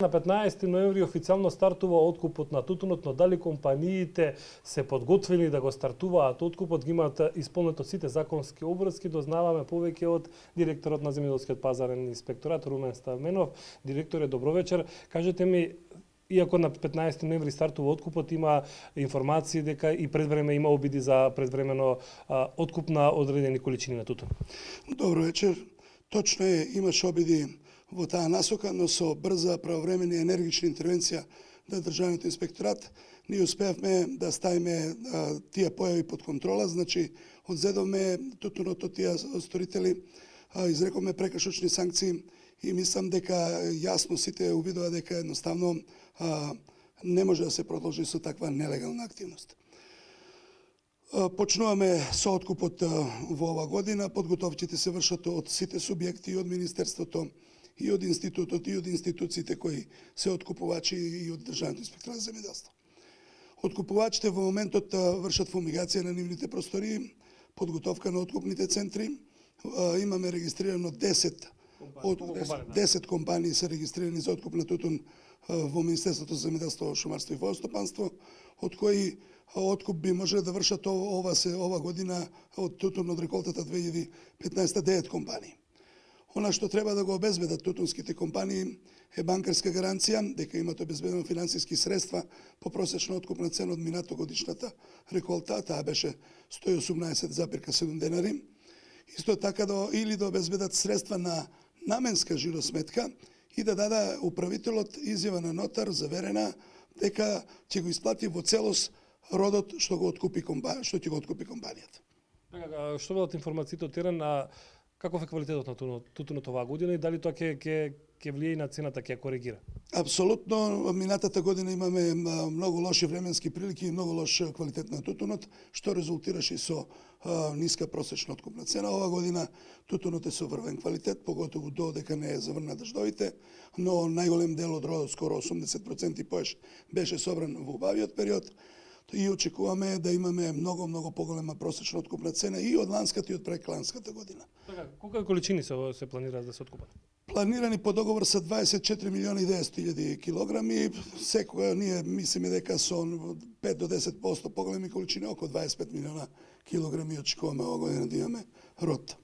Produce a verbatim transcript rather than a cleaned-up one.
На петнаесети ноември официјално стартува откупот на тутунот, но дали компаниите се подготвени да го стартуваат откупот, ги имаат исполнето сите законски обврски, дознаваме повеќе од директорот на земјоделскиот пазарен инспекторат Румен Ставменов. Директоре, добро вечер. Кажете ми, иако на петнаесети ноември стартува откупот, има информации дека и предвреме има обиди за предвремено а, откуп на одредени количини на тутун. Добро вечер. Точно е, имаше обиди во таа насока, но со брза, правовремена и енергична интервенција на Државниот инспекторат ние успеавме да ставиме а, тие појави под контрола, значи одзедовме тутунот од тие сторители, а, изрековме прекршочни санкции и мислам дека јасно сите увидува дека едноставно а, не може да се продолжи со таква нелегална активност. Почнуваме со откупот во ова година, подготовките се вршат од сите субјекти, и од Министерството, и од институтот, и од институциите кои се откупувачи, и од Државниот инспекторат за земјоделство. Откупувачите во моментот вршат фумигација на нивните простории, подготовка на откупните центри. Имаме регистрирано десет од десет компании се регистрирани за откуп на тутун во Министерството за земјоделство, шумарство и водостопанство, од кои откуп би можеле да вршат ова се ова година од тутун од реколтата две илјади и петнаесета девет компании. Она што треба да го обезбедат тутунските компании е банкарска гаранција дека имат обезбедено финансиски средства по просечна откупна цена од минатогодишната реколта, таа беше сто и осумнаесет запирка седум денари. Исто така да или да обезбедат средства на наменска жиросметка и да даде управителот изјава на нотар заверена дека ќе го исплати во целост родот што го откупи компанија, што ќе го откупи компанијата. Така, што бидат информациите од терен, а каков е квалитетот на тутунот оваа година и дали тоа ќе ќе ќе влие и на цената, ќе ја коригира? Апсолутно, минатата година имаме многу лоши временски прилики и многу лош квалитет на тутунот, што резултираше со а, ниска просечна откупна цена. Ова година тутунот е со врвен квалитет, поготово додека не е заврна дождовите, но најголем дел од родот, скоро осумдесет проценти поеш, беше собран во убавиот период. И очекуваме да имаме многу, многу поголема просечна откупна цена и од ланската и од прекланската година. Така, колку количини се, се планираат да се откупат? Планирани по договор се дваесет и четири милиони и деветстотини илјади килограми. Секоја ние мислиме дека со пет до десет проценти поголеми количини, околу дваесет и пет милиона килограми очекуваме ова година да имаме род.